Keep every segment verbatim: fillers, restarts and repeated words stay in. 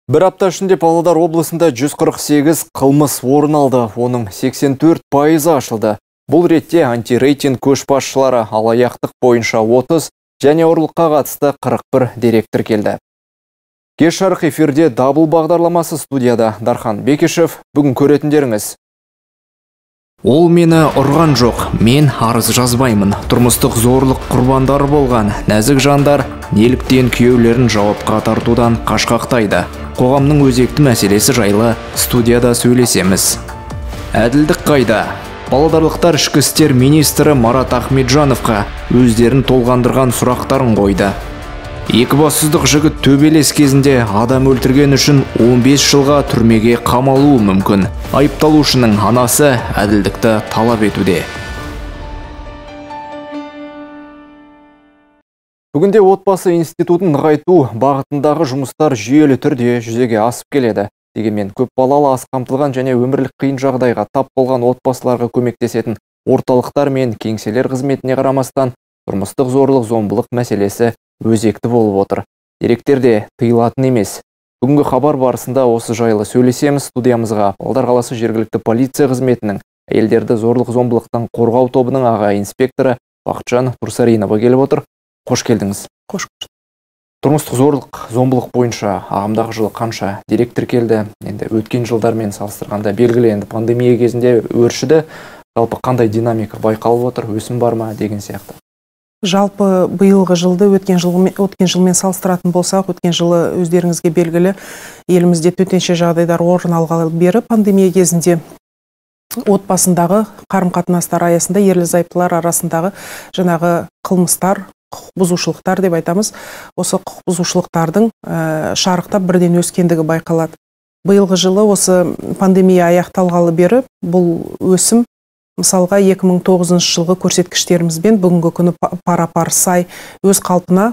Бір апта ішінде Павлодар облысында жүз қырық сегіз қылмыс орын алды, оның сексен төрт пайызы ашылды. Бұл ретте антирейтинг көшбасшылары алаяқтық бойынша отыз және ұрлыққа қатысты қырық бір дерек тіркелді. Кеш жарық эфирде дабыл бағдарламасы, студияда Дархан Бекешев. Бүгін көретіндеріңіз: ол мені ұрған жоқ, мен арыз жазбаймын. Тұрмыстық зорлық құрбандары болған нәзік жандар неліктен күйеулерін жауапқа тартудан қашқақтайды? Қоғамның өзекті мәселесі жайлы студияда сөйлесеміз. Әділдік қайда? Павлодарлықтар ішкі істер министрі Марат Ахметжановқа өздерін толғандырған сұрақтарын қойды. Екібастұздық жігіт төбелес кезінде адам өлтірген үшін он бес жылға түрмеге қамалуы мүмкін. Айыпталушының анасы әділдікті талап етуде. Бүгінде отбасы институтын нығайту бағытындағы жұмыстар жүйелі түрде жүзеге асып келеді. Дегенмен көп балалы, аз қамтылған және өмірлік қиын жағдайға тап болған отбасыларға көмектесетін орталықтар мен кеңселер қызметіне қарамастан, тұрмыстық зорлық-зомбылық мәселесі өзекті болып отыр. Деректерде тыйылатын емес. Бүгінгі хабар барысында осы жайлы сөйлесеміз. Студиямызға Павлодар қаласы жергілікті полиция қызметінің әйелдерді зорлық-зомбылықтан қорғау тобының аға инспекторы Бақытжан Турсаринова келіп отыр. Қош келдіңіз. Қош көрдік. Тұрмыстық зорлық, зомбылық бойынша ағымдағы жылы қанша дерек тіркелді? Енді өткен жылдармен салыстырғанда белгілі, енді пандемия кезінде өршіді. Жалпы қандай динамика байқалып отыр, өсім бар ма деген сияқты? Жалпы биылғы жылды өткен жылмен, өткен жылмен салыстыратын болсақ, өткен жылы өздеріңізге белгілі елімізде төтенше жағдайлар орын алғалы бері пандемия кезінде отбасындағы қарым-қатынастар аясында ерлі-зайыптылар арасындағы жаңағы қылмыстар, құқық бұзушылықтар деп айтамыз. Осы құқық бұзушылықтардың ә, шарықтап бірден өскендігі байқалады. Биылғы жылы осы пандемия аяқталғалы бері бұл өсім мысалға екі мың тоғызыншы жылғы көрсеткіштерімізбен бүгінгі күні пара-пар сай өз қалпына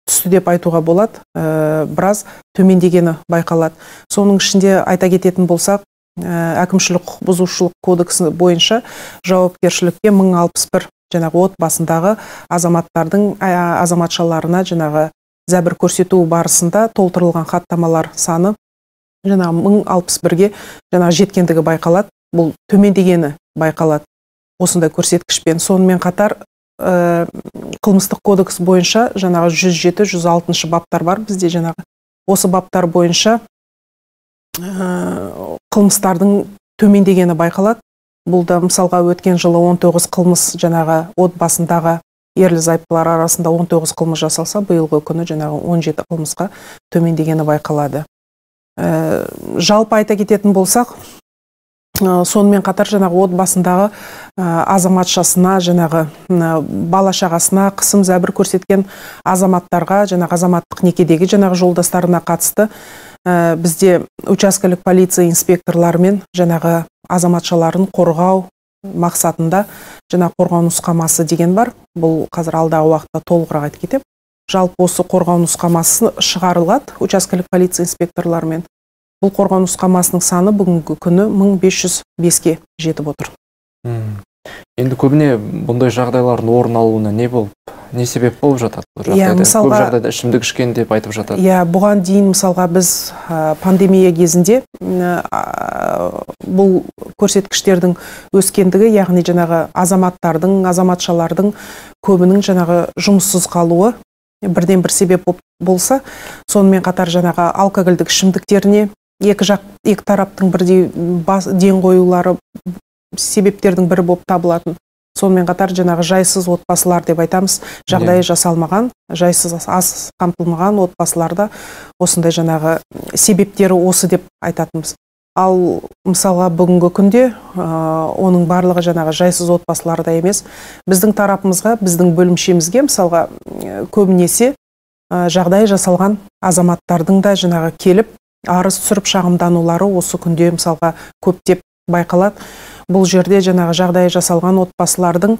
түсті деп айтуға болады. Ә, біраз төмендегені байқалады. Соның ішінде айта кететін болсақ, ә, әкімшілік құқық бұзушылық кодексі бойынша жауапкершілікке мың алпыс бір жаңағы отбасындағы азаматтардың азаматшаларына жаңағы зәбір көрсету барысында толтырылған хаттамалар саны жаңағы мың алпыс бірге жаңағы жеткендігі байқалады. Бұл төмендегені байқалады осындай көрсеткішпен. Сонымен қатар ә, қылмыстық кодекс бойынша жаңағы жүз жеті жүз алтыншы баптар бар бізде. Жаңағы осы баптар бойынша ә, қылмыстардың төмендегені байқалады. Бұл да мысалға өткен жылы он тоғыз қылмыс жаңағы отбасындағы ерлі-зайыптылар арасында он тоғыз қылмыс жасалса, биылғы күні жаңағы он жеті қылмысқа төмендегені байқалады. Ә, жалпы айта кететін болсақ, ә, сонымен қатар жаңағы отбасындағы ә, азаматшасына, жаңағы ә, бала-шағасына қысым зәбір көрсеткен азаматтарға, жаңағы азаматтық некедегі жаңағы жолдастарына қатысты ә, бізде учаскелік полиция инспекторларымен жаңағы азаматшаларын қорғау мақсатында жаңа қорғау нұсқамасы деген бар. Бұл қазір алдағы уақытта толығырақ айтып кетем. Жалпы осы қорғау нұсқамасы шығарылады учаскелік полиция инспекторларымен. Бұл қорғау нұсқамасының саны бүгінгі күні мың бес жүз беске жетіп отыр. Hmm. Енді көбіне бұндай жағдайлардың орын алуына не болып, не себеп болып жатады? Я, мысалға, көп жағдайда ішімдік ішкен деп айтып жатады. Я, бұған дейін мысалға біз ә, пандемия кезінде ә, бұл көрсеткіштердің өскендігі, яғни жаңағы азаматтардың, азаматшалардың көбінің жаңағы жұмыссыз қалуы бірден бір себеп болса, сонымен қатар жаңағы алкогольдік ішімдіктеріне екі жақ, екі тараптың бірдей бас, ден қоюлары себептердің бірі болып табылатын. Сонымен қатар жаңағы жайсыз отбасылар деп айтамыз, жағдайы жасалмаған, жайсыз аз қамтылмаған отбасыларда осындай жаңағы себептері осы деп айтатынбыз. Ал мысалға бүгінгі күнде ә, оның барлығы жаңағы жайсыз отбасыларда емес. Біздің тарапымызға, біздің бөлімшемізге мысалға көбінесе ә, жағдайы жасалған азаматтардың да жаңағы келіп арыз түсіріп шағымданулары осы күнде мысалға көптеп байқалады. Бұл жерде жаңағы жағдайы жасалған отбасылардың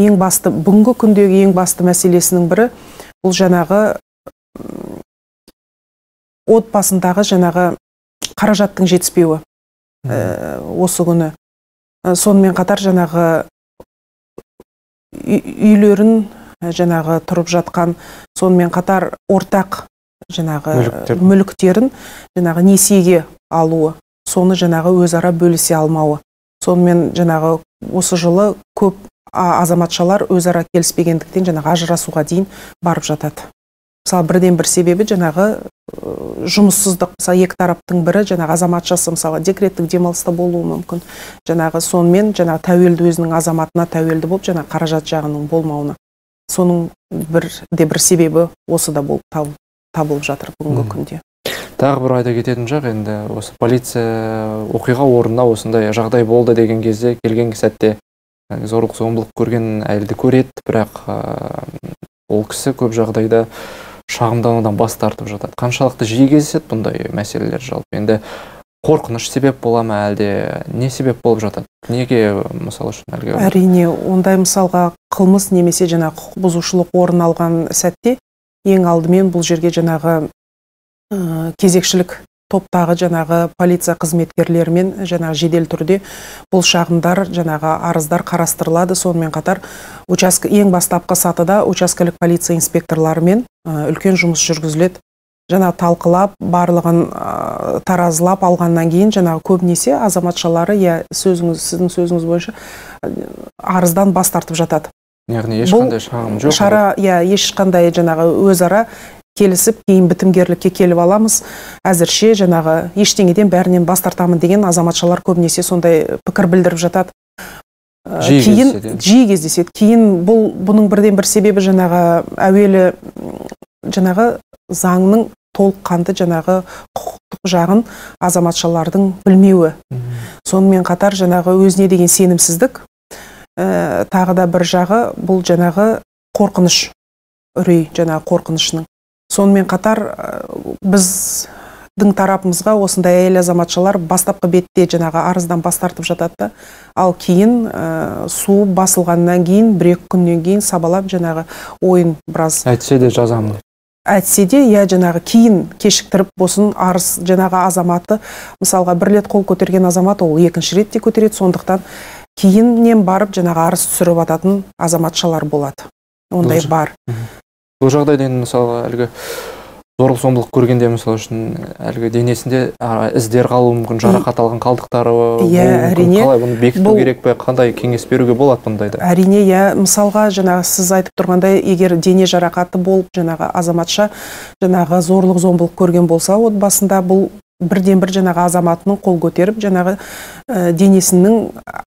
ең басты, бүгінгі күндегі ең басты мәселесінің бірі, бұл жаңағы отбасындағы жаңағы қаражаттың жетіспеуі ә, осы күні. Сонымен қатар жаңағы үйлерін жаңағы тұрып жатқан, сонымен қатар ортақ жаңағы мүліктерін жаңағы несиеге алуы, соны жаңағы өзара бөлісе алмауы. Сонымен жаңағы осы жылы көп азаматшалар өзара келіспегендіктен жаңағы ажырасуға дейін барып жатады. Мысалы, бірден бір себебі жаңағы жұмыссыздық. Мысалы, екі тараптың бірі жаңағы азаматшасы мысалы декреттік демалыста болуы мүмкін. Жаңағы сонымен жаңағы тәуелді өзінің азаматына тәуелді болып, жаңағы қаражат жағының болмауына. Соның бір де бір себебі осы да болып табылып жатыр бүгінгі күнде. Тағы бір айта кететін жақ, енді осы полиция оқиға орнына осындай жағдай болды деген кезде, келген сәтте зорлық зомбылық көрген әйелді көреді, бірақ ол кісі көп жағдайда шағымданудан бас тартып жатады. Қаншалықты жиі кездеседі бұндай мәселелер жалпы? Енді қорқыныш себеп бола ма, әлде не себеп болып жатады? Неге мысалы үшін әлгі? Әрине, ондай мысалға қылмыс немесе жаңағы құқық бұзушылық орын алған сәтте ең алдымен бұл жерге жаңағы кезекшілік топтағы жаңағы полиция қызметкерлерімен жаңағы жедел түрде бұл шағымдар жаңағы арыздар қарастырылады. Сонымен қатар участка ең бастапқы сатыда учаскелік полиция инспекторларымен үлкен жұмыс жүргізіледі. Жаңа талқылап, барлығын таразылап алғаннан кейін жаңағы көбінесе азаматшалары, я сөзіңіз, сіздің сөзіңіз бойынша арыздан бас тартып жатады. Яғни ешқандай шағым жоқ. Шара, я ешқандай жаңағы өзара келісіп, кейін бітімгерлікке келіп аламыз. Әзірше жаңағы ештеңеден бәрінен бас тартамын деген азаматшалар көбінесе сондай пікір білдіріп жатады. Кейін жиі кездеседі. Кейін бұл бұның бірден бір себебі жаңағы әуелі жаңағы заңның толыққанды жаңағы құқықтық жағын азаматшалардың білмеуі. Сонымен қатар жаңағы өзіне деген сенімсіздік, тағы да бір жағы бұл жаңағы қорқыныш, үрей жаңағы қорқынышының. Сонымен қатар біздің тарапымызға осындай әйел азаматшалар бастапқы бетте жаңағы арыздан бас тартып жатады, ал кейін су басылғаннан кейін, бір-екі күннен кейін сабалап жаңағы ойын біраз әйтсе де жазамын. Әйтсе де, я жаңағы кейін кешіктіріп босын арыз жаңағы азаматы, мысалға бір рет қол көтерген азамат, ол екінші ретте көтереді, сондықтан кейіннен барып жаңағы арыз түсіріп ататын азаматшалар болады. Ондай бар. Бұл жағдайда мысалы әлгі зорлық зомбылық көргенде мысалы үшін әлгі денесінде іздер қалуы мүмкін, жарақат алған қалдықтары әрине. Қалай бұны бекіту керек пе, қандай кеңес беруге болады бұндайда? Әрине, я мысалға жаңағы сіз айтып тұрғандай, егер дене жарақаты болып жаңағы азаматша жаңағы зорлық зомбылық көрген болса, отбасында бұл бірден бір жаңағы азаматының қол көтеріп жаңағы денесінің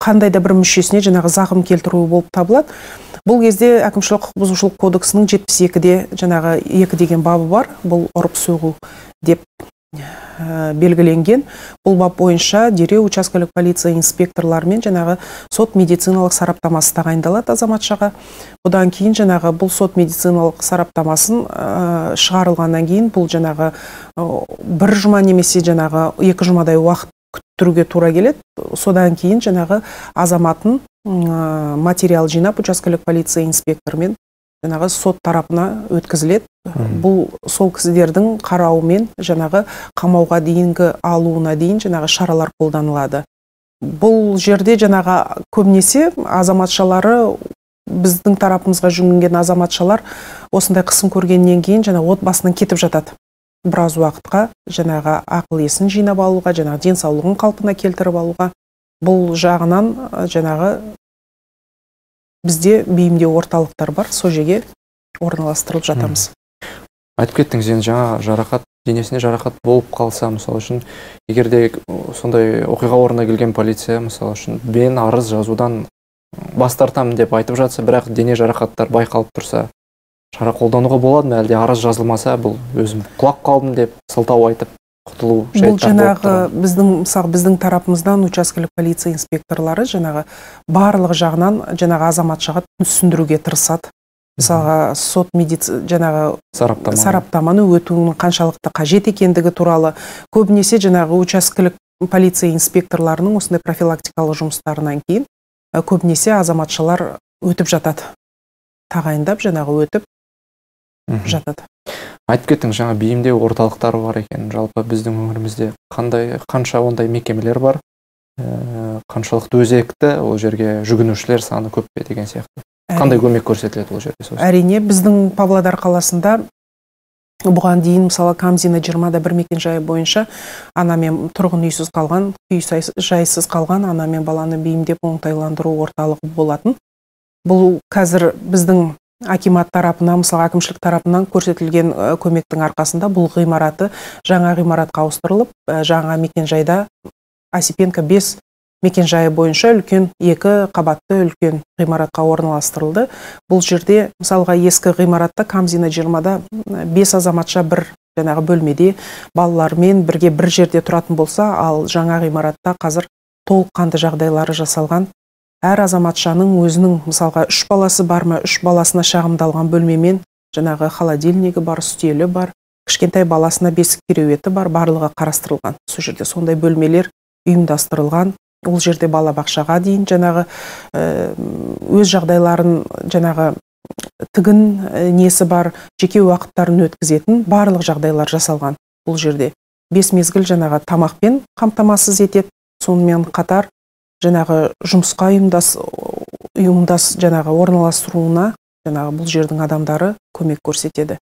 қандай да бір мүшесіне жаңағы зақым келтіруі болып табылады. Бұл кезде әкімшілік құқық бұзушылық кодексінің жетпіс екіде жаңағы екі деген бабы бар. Бұл ұрып соғу деп белгіленген. Бұл бап бойынша дереу учаскелік полиция инспекторларымен жаңағы сот медициналық сараптамасы тағайындалады азаматшаға. Бұдан кейін жаңағы бұл сот медициналық сараптамасын шығарылғаннан кейін бұл жаңағы бір жұма немесе жаңағы екі жұмадай уақыт күттіруге тура келеді. Содан кейін жаңағы азаматын материал жинап учаскелік полиция инспекторымен жаңағы сот тарапына өткізіледі. Бұл сол кісілердің қарауымен жаңағы қамауға дейінгі алуына дейін жаңағы шаралар қолданылады. Бұл жерде жаңағы көбінесе азаматшалары, біздің тарапымызға жүгінген азаматшалар осындай қысым көргеннен кейін жаңағы отбасынан кетіп жатады. Біраз уақытқа жаңағы ақыл есін жинап алуға, жаңағы денсаулығын қалпына келтіріп алуға. Бұл жағынан жаңағы бізде бейімдеу орталықтар бар, сол жерге орналастырылып жатамыз. Айтып кеттіңіз, енді жаңа жарақат, денесіне жарақат болып қалса, мысалы үшін, егерде сондай оқиға орнына келген полиция, мысалы үшін, мен арыз жазудан бас тартамын деп айтып жатса, бірақ дене жарақаттар байқалып тұрса, шара қолдануға болады ма, әлде арыз жазылмаса, бұл өзім құлап қалдым деп сылтау айтып құтылу жайттар болып тұрады? Бұл жаңағы біздің, мысалы, біздің тарапымыздан учаскелік полиция инспекторлары жаңағы барлық жағынан жаңағы азаматшаға түсіндіруге тырысады. Мысалға сот медицина жаңағы сараптаманы өтуінің қаншалықты қажет екендігі туралы көбінесе жаңағы учаскелік полиция инспекторларының осындай профилактикалық жұмыстарынан кейін көбінесе азаматшалар өтіп жатады. Тағайындап жаңағы өтіп жатады. Айтып кеттіңіз, жаңа бейімдеу орталықтары бар екен. Жалпы біздің өңірімізде қандай, қанша ондай мекемелер бар, қаншалықты өзекті, ол жерге жүгінушілер саны көп пе деген сияқты. Қандай көмек көрсетіледі ол жерде? Әрине, біздің Павлодар қаласында Бұған дейін мысалы Камзина жиырмада бір мекен жайы бойынша ана мен тұрғын үйсіз қалған, үй жайсыз қалған ана мен баланы бейімдеп оңтайландыру орталығы болатын. Бұл қазір біздің акимат тарапынан, мысалы әкімшілік тарапынан көрсетілген көмектің арқасында бұл ғимараты жаңа ғимаратқа ауыстырылып, жаңа мекен жайда Осипенко бес мекен жайы бойынша үлкен екі қабатты үлкен ғимаратқа орналастырылды. Бұл жерде мысалға ескі ғимаратта Камзина жиырмада бес азаматша бір жаңағы бөлмеде балалармен бірге бір жерде тұратын болса, ал жаңа ғимаратта қазір толыққанды жағдайлары жасалған. Әр азаматшаның өзінің мысалға үш баласы бар ма, үш баласына шағымдалған бөлмемен жаңағы холодильнигі бар, үстелі бар, кішкентай баласына бесік кереуеті бар, барлығы қарастырылған. Сол жерде сондай бөлмелер ұйымдастырылған. Ол жерде балабақшаға дейін жаңағы өз жағдайларын жаңағы тігін несі бар, жеке уақыттарын өткізетін барлық жағдайлар жасалған. Бұл жерде бес мезгіл жаңағы тамақпен қамтамасыз етеді. Сонымен қатар жаңағы жұмысқа ұйымдас ұйымдас жаңағы орналастыруына жаңағы бұл жердің адамдары көмек көрсетеді.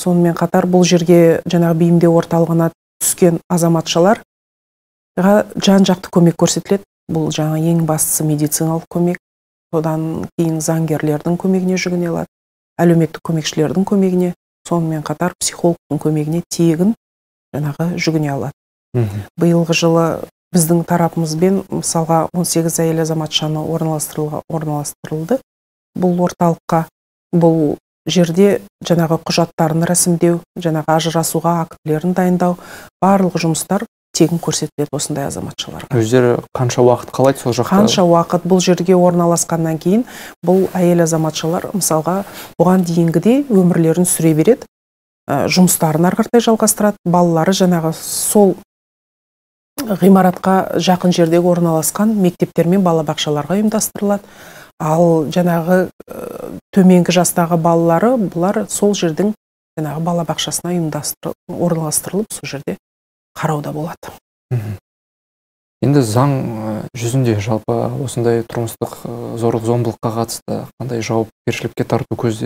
Сонымен қатар бұл жерге жаңағы бейімдеу орталығына түскен азаматшалар жан-жақты көмек көрсетіледі. Бұл жаңа ең бастысы медициналық көмек, содан кейін заңгерлердің көмегіне жүгіне алады, әлеуметтік көмекшілердің көмегіне, сонымен қатар психологтың көмегіне тегін жаңағы жүгіне алады. Биылғы жылы біздің тарапымызбен мысалға он сегіз әйел азаматшаны орналастырылды. Бұл орталыққа, бұл жерде жаңағы құжаттарын рәсімдеу, жаңағы ажырасуға актілерін дайындау, барлық жұмыстар тегін көрсетіледі осындай азаматшаларға. Өздері қанша уақыт қалайды сол жақта? Қанша уақыт бұл жерге орналасқаннан кейін бұл әйел азаматшалар мысалға бұған дейінгідей өмірлерін сүре береді, жұмыстарын ары қаратай жалғастырады. Балалары жаңағы сол ғимаратқа жақын жердегі орналасқан мектептер мен балабақшаларға ұйымдастырылады. Ал жаңағы төменгі жастағы балалары бұлар сол жердің жаңағы балабақшасына орналастырылып, сол жерде қарауда болады. Енді заң жүзінде жалпы осындай тұрмыстық зорлық зомбылыққа қатысты қандай жауапкершілікке тарту көз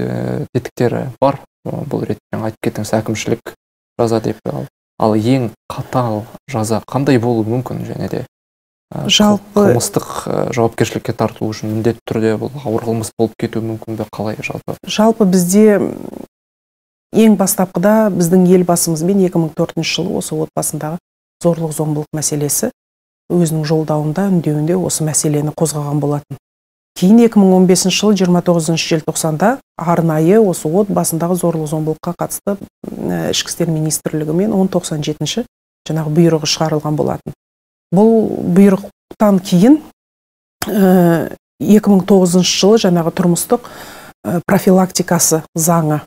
тетіктері бар? Бұл ретте айтып кеттіңіз, әкімшілік жаза деп. Ал ең қатал жаза қандай болуы мүмкін, және де жалпы қылмыстық жауапкершілікке тарту үшін міндетті түрде бұл ауыр қылмыс болып кетуі мүмкін бе, қалай жалпы? Жалпы бізде ең бастапқыда біздің елбасымызбен екі мың төртінші жылы осы отбасындағы зорлық зомбылық мәселесі өзінің жолдауында, үндеуінде осы мәселені қозғаған болатын. Кейін екі мың он бесінші жылы жиырма тоғызыншы желтоқсанда арнайы осы отбасындағы зорлық зомбылыққа қатысты ішкі істер министрлігімен он тоқсан жетінші жаңағы бұйрығы шығарылған болатын. Бұл бұйрықтан кейін екі мың тоғызыншы жылы жаңағы тұрмыстық профилактикасы заңы,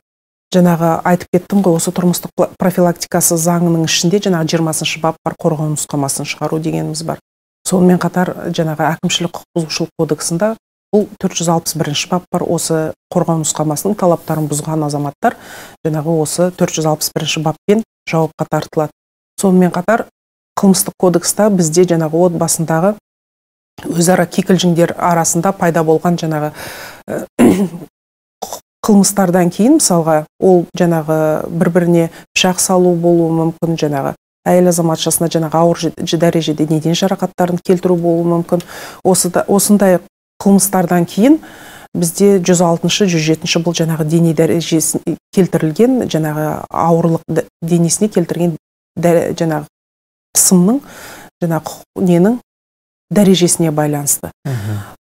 жаңағы айтып кеттім ғой, осы тұрмыстық профилактикасы заңының ішінде жаңағы жиырмасыншы бап бар, қорғау нұсқамасын шығару дегеніміз бар. Сонымен қатар жаңағы әкімшілік құқық бұзушылық кодексында бұл төрт жүз алпыс бірінші бап бар, осы қорғау нұсқамасының талаптарын бұзған азаматтар жаңағы осы төрт жүз алпыс бірінші баппен жауапқа тартылады. Сонымен қатар қылмыстық кодекста бізде жаңағы отбасындағы өзара кикілжіңдер арасында пайда болған жаңағы қылмыстардан кейін, мысалға, ол жаңағы бір-біріне пышақ салу болуы мүмкін, жаңағы әйел азаматшасына жаңағы ауыр дәрежеде неден жарақаттарын келтіру болуы мүмкін. Осындай қылмыстардан кейін бізде жүз алтыншы, жүз жетінші бұл жаңағы дене дәрежесіне келтірілген, жаңағы ауырлық денесіне келтірген жаңағы қысымның, жаңағы ненің дәрежесіне байланысты.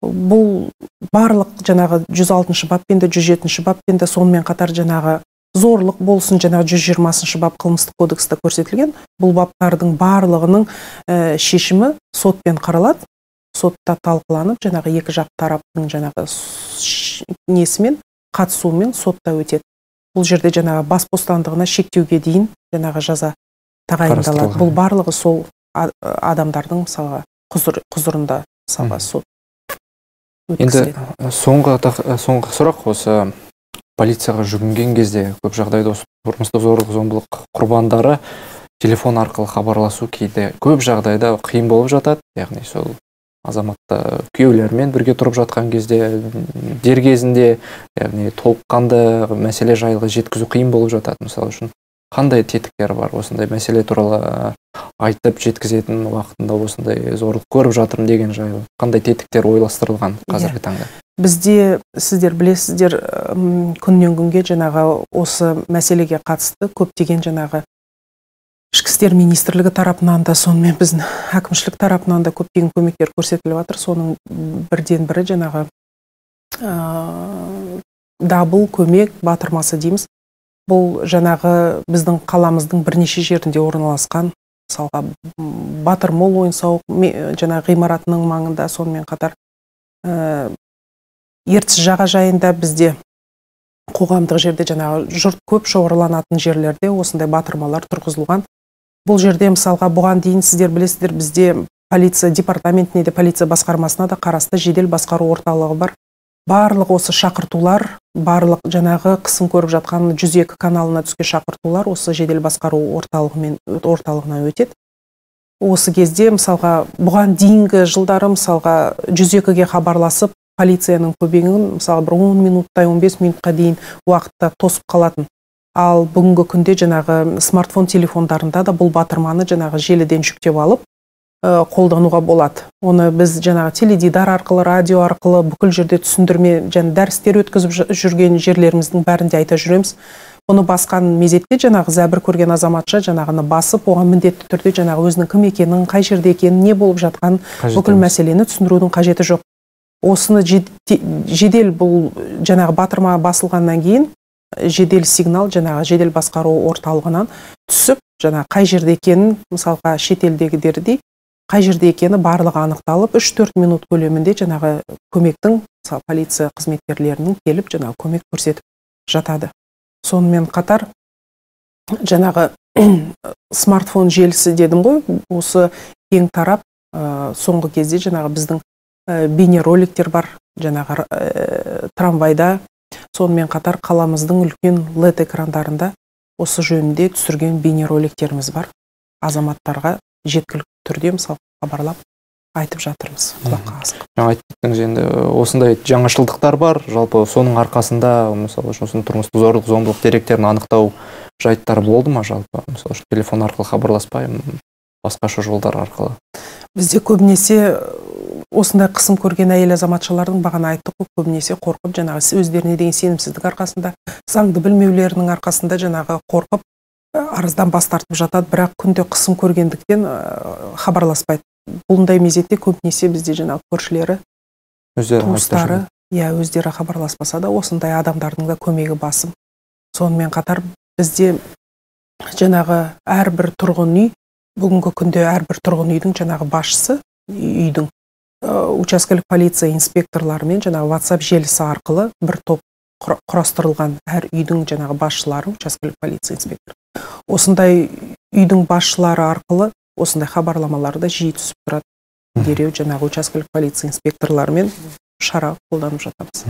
Бұл барлық жаңағы жүз алтыншы баппен де, жүз жетінші баппен де, сонымен қатар жаңағы зорлық болсын, жаңағы жүз жиырмасыншы бап қылмыстық кодексте көрсетілген, бұл баптардың барлығының шешімі сотпен қаралады, сотта талқыланып, жаңағы екі жақ тараптың жаңағы несімен, қатысуымен сотта өтеді. Бұл жерде жаңағы бас бостандығына шектеуге дейін жаңағы жаза тағайындалады. Бұл барлығы сол адамдардың мысалға құзырында мысалға сот. Енді соңғы соңғы сұрақ, осы полицияға жүгінген кезде көп жағдайда осы тұрмыстық зорлық зомбылық құрбандары телефон арқылы хабарласу кейде көп жағдайда қиын болып жатады. Яғни сол азаматта күйеулермен бірге тұрып жатқан кезде, дер кезінде, яғни толыққанды мәселе жайлы жеткізу қиын болып жатады. Мысалы үшін Қандай тетіктер бар осындай мәселе туралы айтып жеткізетін уақытында осындай зорлық көріп жатырмын деген жайлы қандай тетіктер ойластырылған қазіргі таңда? Бізде сіздер білесіздер, күннен күнге жаңағы осы мәселеге қатысты көптеген жаңағы ішкі істер министрлігі тарапынан да, сонымен біздің әкімшілік тарапынан да көптеген көмектер көрсетіліп жатыр. Соның бірден бірі жаңағы дабыл көмек батырмасы дейміз. Бұл жаңағы біздің қаламыздың бірнеше жерінде орналасқан, мысалға Батыр мол ойын-сауық жаңағы ғимаратының маңында, сонымен қатар Ертіс жағажайында бізде қоғамдық жерде жаңағы жұрт көп шоғырланатын жерлерде осындай батырмалар тұрғызылған. Бұл жерде мысалға бұған дейін сіздер білесіздер, бізде полиция департаментіне де, полиция басқармасына да қарасты жедел басқару орталығы бар. Барлық осы шақыртулар, барлық жаңағы қысым көріп жатқан жүз екі каналына түскен шақыртулар осы жедел басқару орталығымен орталығына өтеді. Осы кезде мысалға бұған дейінгі жылдары мысалға жүз екіге хабарласып, полицияның көбегін мысалы бір он минуттай он бес минутқа дейін уақытта тосып қалатын. Ал бүгінгі күнде жаңағы смартфон телефондарында да бұл батырманы жаңағы желіден жүктеп алып қолдануға болады. Оны біз жаңағы теледидар арқылы, радио арқылы бүкіл жерде түсіндірме және дәрістер өткізіп жүрген жерлеріміздің бәрінде айта жүреміз. Оны басқан мезетте жаңағы зәбір көрген азаматша жаңағыны басып, оған міндетті түрде жаңағы өзінің кім екенін, қай жерде екенін, не болып жатқан бүкіл мәселені түсіндірудің қажеті жоқ. Осыны жедел бұл жаңағы батырма басылғаннан кейін жедел сигнал жаңағы жедел басқару орталығынан түсіп, жаңағы қай жерде екенін, мысалға шетелдегідердей қай жерде екені барлығы анықталып, үш төрт минут көлемінде жаңағы көмектің, полиция қызметкерлерінің келіп жаңағы көмек көрсетіп жатады. Сонымен қатар жаңағы смартфон желісі дедім ғой, осы кең тарап, соңғы кезде жаңағы біздің бейнероликтер бар, жаңағы трамвайда, сонымен қатар қаламыздың үлкен лед экрандарында осы жөнінде түсірген бейнероликтеріміз бар. Азаматтарға жеткілікті түрде мысалы хабарлап айтып жатырмыз. Құлаққа асық. Жаңа айттыңыз, енді осындай жаңашылдықтар бар. Жалпы соның арқасында мысалы осының тұрмыстық зорлық зомбылық деректерін анықтау жайттар болды ма жалпы? Мысалы телефон арқылы хабарласпай, басқаша жолдар арқылы. Бізде көбінесе осындай қысым көрген әйел азаматшалардың бағана айттық қой, көбінесе қорқып, жаңағы өздеріне деген сенімсіздік арқасында, заңды білмеулерінің арқасында жаңағы қорқып, арыздан бас тартып жатады, бірақ күнде қысым көргендіктен хабарласпайды. Бұндай мезетте көбінесе бізде жаңағы көршілері, туыстары, я өздері хабарласпаса да, осындай адамдардың да көмегі басым. Сонымен қатар бізде жаңағы әрбір тұрғын үй, бүгінгі күнде әрбір тұрғын үйдің жаңағы басшысы, үйдің учаскелік полиция инспекторларымен жаңағы WhatsApp желісі арқылы бір топ құрастырылған әр үйдің жаңағы басшылары, учаскелік полиция инспектор. Осындай үйдің басшылары арқылы осындай хабарламаларды жиі түсіп тұрады. Дереу жаңағы учаскелік полиция инспекторларымен шара қолданып жатамыз.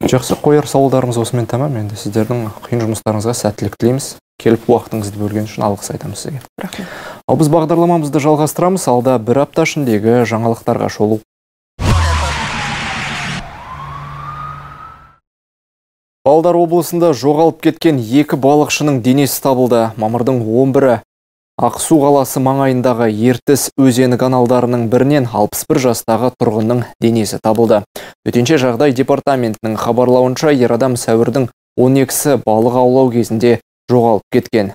Жақсы, қояр сауалдарымыз осымен тамам. Енді сіздердің қиын жұмыстарыңызға сәттілік тілейміз. Келіп уақытыңызды бөлген үшін алғыс айтамыз сізге. Рахмет. Ал біз бағдарламамызды жалғастырамыз. Алда бір апта ішіндегі жаңалықтарға шолу. Павлодар облысында жоғалып кеткен екі балықшының денесі табылды. Мамырдың он бірі Ақсу қаласы маңайындағы Ертіс өзені каналдарының бірінен алпыс бір жастағы тұрғынның денесі табылды. Төтенше жағдай департаментінің хабарлауынша, ер адам сәуірдің он екісі балық аулау кезінде жоғалып кеткен.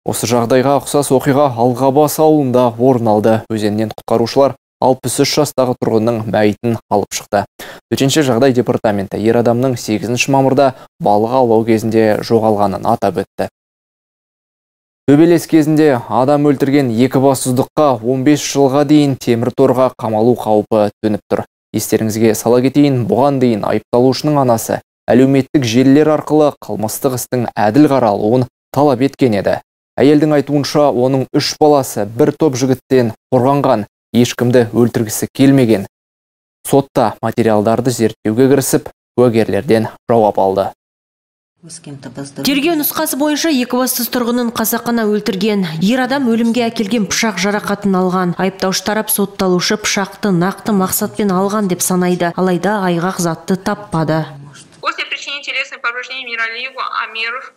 Осы жағдайға ұқсас оқиға Алғабас ауылында орын алды. Өзеннен құтқарушылар алпыс үш жастағы тұрғынның мәйітін алып шықты. Төтенше жағдай департаменті ер адамның сегізінші мамырда балық аулау кезінде жоғалғанын атап өтті. Төбелес кезінде адам өлтірген екібастұздыққа он бес жылға дейін темір торға қамалу қаупі төніп тұр. Естеріңізге сала кетейін, бұған дейін айыпталушының анасы әлеуметтік желілер арқылы қылмыстық істің әділ қаралуын талап еткен еді. Әйелдің айтуынша, оның үш баласы бір топ жігіттен қорғанған, ешкімді өлтіргісі келмеген. Сотта материалдарды зерттеуге кірісіп, куәгерлерден жауап алды. Тергеу нұсқасы бойынша екібастұз тұрғынын қасақана өлтірген. Ер адам өлімге әкелген пышақ жарақатын алған. Айыптаушы тарап сотталушы пышақты нақты мақсатпен алған деп санайды. Алайда айғақ затты таппады. После причинения телесных повреждений Миралиеву Амиров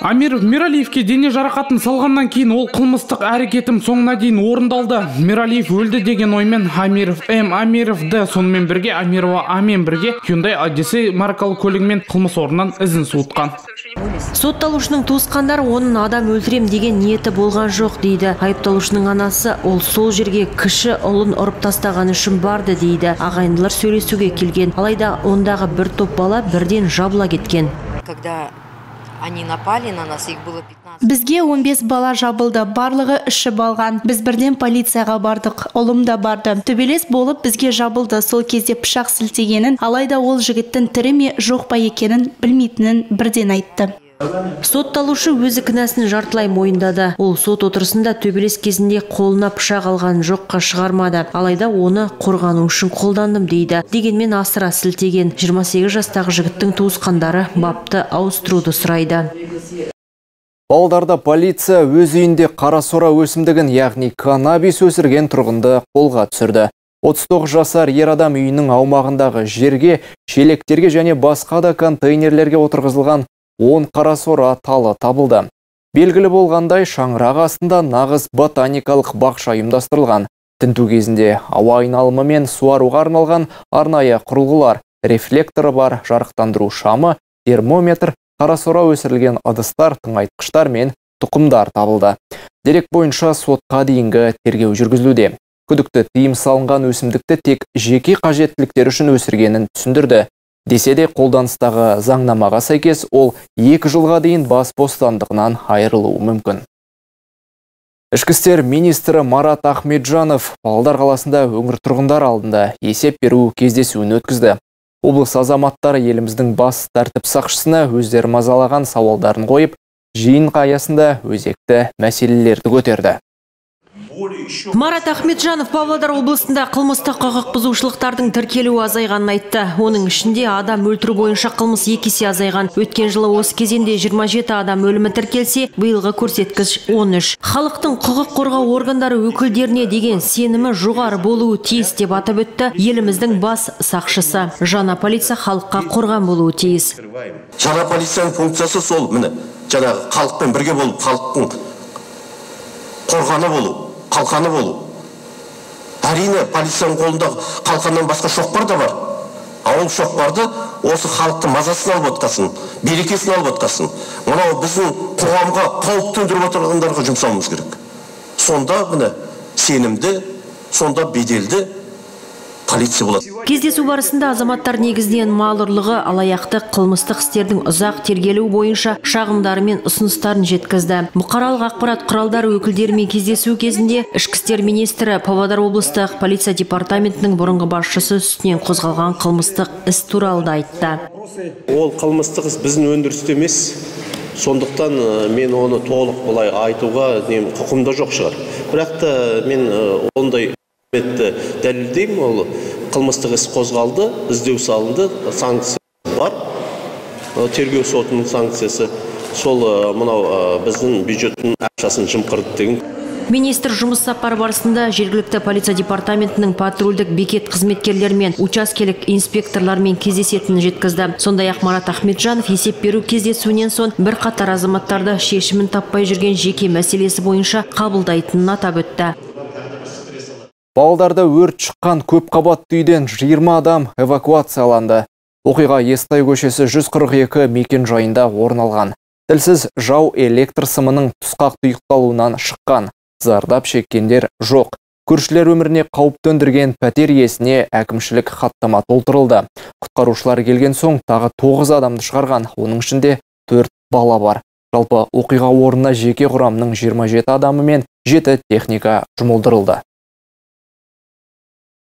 Амиров Мералиевке дене жарақатын салғаннан кейін ол қылмыстық әрекетім соңына дейін орындалды. Мералиев өлді деген оймен Амиров М. Амиров Д. сонымен бірге Амирова А-мен бірге Hyundai Odyssey маркалы көлігімен қылмыс орнынан ізін суытқан. Сотталушының туысқандары оның адам өлтірем деген ниеті болған жоқ дейді. Айыпталушының анасы ол сол жерге кіші ұлын ұрып тастаған үшін барды дейді. Ағайындылар сөйлесуге келген. Алайда ондағы бір топ бала бірден жабыла кеткен. Когда они напали на нас, их было пятнадцать. Бізге он бес бала жабылды, барлығы іші балған. Біз бірден полицияға бардық, ұлым да барды. Төбелес болып бізге жабылды, сол кезде пышақ сілтегенін, алайда ол жігіттің тірі ме жоқ па екенін білмейтінін бірден айтты. Сотталушы өзі кінәсін жартылай мойындады. Ол сот отырысында төбелес кезінде қолына пышақ алған жоққа шығармады. Алайда оны қорғану үшін қолдандым дейді. Дегенмен асыра сілтеген жиырма сегіз жастағы жігіттің туысқандары бапты ауыстыруды сұрайды. Павлодарда полиция өз үйінде қарасора өсімдігін, яғни каннабис өсірген тұрғынды қолға түсірді. отыз тоғыз жасар ер адам үйінің аумағындағы жерге, шелектерге және басқа да контейнерлерге отырғызылған он қарасора талы табылды. Белгілі болғандай, шаңырақ астында нағыз ботаникалық бақша ұйымдастырылған. Тінту кезінде ауа айналымы мен суаруға арналған арнайы құрылғылар, рефлекторы бар жарықтандыру шамы, термометр, қарасора өсірілген ыдыстар, тыңайтқыштар мен тұқымдар табылды. Дерек бойынша сотқа дейінгі тергеу жүргізілуде. Күдікті тыйым салынған өсімдікті тек жеке қажеттіліктер үшін өсіргенін түсіндірді. Десе де қолданыстағы заңнамаға сәйкес ол екі жылға дейін бас бостандығынан айырылуы мүмкін. Ішкі істер министрі Марат Ахметжанов Павлодар қаласында өңір тұрғындар алдында есеп беру кездесуін өткізді. Облыс азаматтары еліміздің бас тәртіп сақшысына өздері мазалаған сауалдарын қойып, жиын аясында өзекті мәселелерді көтерді. Марат Ахметжанов Павлодар облысында қылмыстық құқық бұзушылықтардың тіркелуі азайғанын айтты. Оның ішінде адам өлтіру бойынша қылмыс екі есе азайған. Өткен жылы осы кезеңде жиырма жеті адам өлімі тіркелсе, биылғы көрсеткіш он үш. Халықтың құқық қорғау органдары өкілдеріне деген сенімі жоғары болуы тиіс деп атап өтті еліміздің бас сақшысы. Жаңа полиция халыққа қорған болуы тиіс. Жаңа полицияның функциясы сол, міне, жаңағы халықпен бірге болып, халықтың қорғаны болу, қалқаны болу. Әрине, полицияның қолында қалқаннан басқа шоқпар да бар. Ауыл шоқпарды осы халықтың мазасын алып отқасын, берекесін алып отқасын. Мынау біздің қоғамға қауіп төндіріп отырғандарға жұмсауымыз керек. Сонда міне сенімді, сонда беделді полиция болады. Кездесу барысында азаматтар негізінен мал ұрлығы, алаяқтық, қылмыстық істердің ұзақ тергелуі бойынша шағымдары мен ұсыныстарын жеткізді. Бұқаралық ақпарат құралдары өкілдерімен кездесу кезінде ішкі істер министрі Павлодар облыстық полиция департаментінің бұрынғы басшысы үстінен қозғалған қылмыстық іс туралы да айтты. Ол қылмыстық іс біздің өндірісте емес. Сондықтан мен оны толық былай айтуға құқымда жоқ шығар. Бірақ та мен ондай дәлелдеймін, ол қылмыстық іс қозғалды, іздеу салынды, санкция бар, тергеу сотының санкциясы, сол мынау біздің бюджеттің ақшасын жымқырды деген. Министр жұмыс сапары барысында жергілікті полиция департаментінің патрульдік бекет қызметкерлерімен, учаскелік инспекторлармен кездесетінін жеткізді. Сондай-ақ Марат Ахметжанов есеп беру кездесуінен соң бір қатар азаматтарды шешімін таппай жүрген жеке мәселесі бойынша қабылдайтынын атап өтті. Павлодарда өрт шыққан көп қабатты үйден жиырма адам эвакуацияланды. Оқиға Естай көшесі жүз қырық екі мекен жайында орын алған. Тілсіз жау электр сымының тұсқақ тұйықталуынан шыққан. Зардап шеккендер жоқ. Көршілер өміріне қауіп төндірген пәтер иесіне әкімшілік хаттама толтырылды. Құтқарушылар келген соң тағы тоғыз адамды шығарған. Оның ішінде төрт бала бар. Жалпы оқиға орнына жеке құрамның жиырма жеті адамы мен жеті техника жұмылдырылды.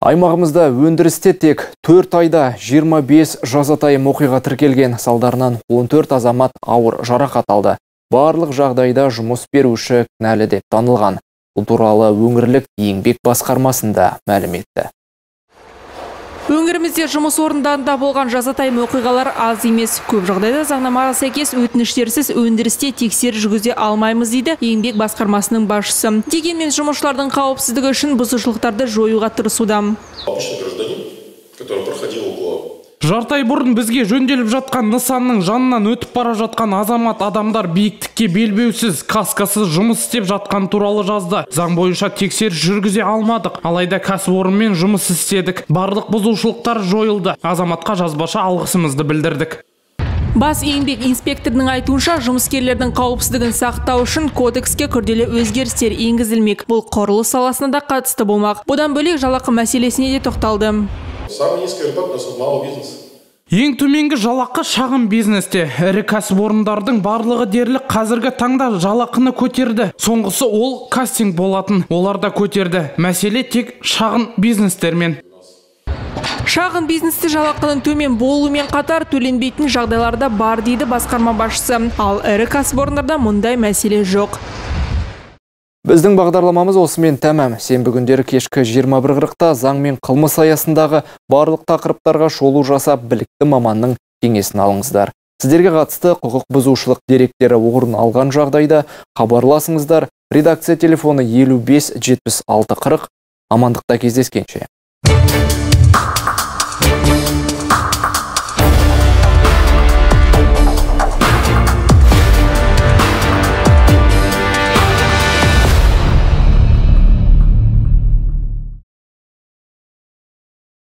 Аймағымызда өндірісте тек төрт айда жиырма бес жазатайым оқиға тіркелген, салдарынан он төрт азамат ауыр жарақат алды. Барлық жағдайда жұмыс беруші кінәлі деп танылған. Бұл туралы өңірлік еңбек басқармасында мәлім етті. Өңірімізде жұмыс орындарында болған жазатайым оқиғалар аз емес. Көп жағдайда заңнамаға сәйкес өтініштерсіз өндірісте тексеріс жүргізе алмаймыз дейді еңбек басқармасының басшысы. Дегенмен жұмысшылардың қауіпсіздігі үшін бұзушылықтарды жоюға тырысуда. Жарты ай бұрын бізге жөнделіп жатқан нысанның жанынан өтіп бара жатқан азамат адамдар биіктікке белбеусіз, каскасыз жұмыс істеп жатқан туралы жазды. Заң бойынша тексеріс жүргізе алмадық, алайда кәсіпорынмен жұмыс істедік. Барлық бұзушылықтар жойылды. Азаматқа жазбаша алғысымызды білдірдік. Бас еңбек инспекторының айтуынша, жұмыскерлердің қауіпсіздігін сақтау үшін кодекске күрделі өзгерістер енгізілмек. Бұл құрылыс саласына да қатысты болмақ. Бұдан бөлек жалақы мәселесіне де тоқталды. Самый низкий рынок у нас малый бизнес. Ең төменгі жалақы шағын бизнесте. Ірі кәсіпорындардың барлығы дерлік қазіргі таңда жалақыны көтерді. Соңғысы ол кастинг болатын. Олар да көтерді. Мәселе тек шағын бизнестермен. Шағын бизнесте жалақының төмен болуымен қатар төленбейтін жағдайларда бар дейді басқарма басшысы. Ал ірі кәсіпорындарда мұндай мәселе жоқ. Біздің бағдарламамыз осымен тәмам. Сенбі күндері кешкі жиырма бір қырықта заң мен қылмыс аясындағы барлық тақырыптарға шолу жасап, білікті маманның кеңесін алыңыздар. Сіздерге қатысты құқық бұзушылық деректері орын алған жағдайда хабарласыңыздар. Редакция телефоны елу бес жетпіс алты қырық. Амандықта кездескенше.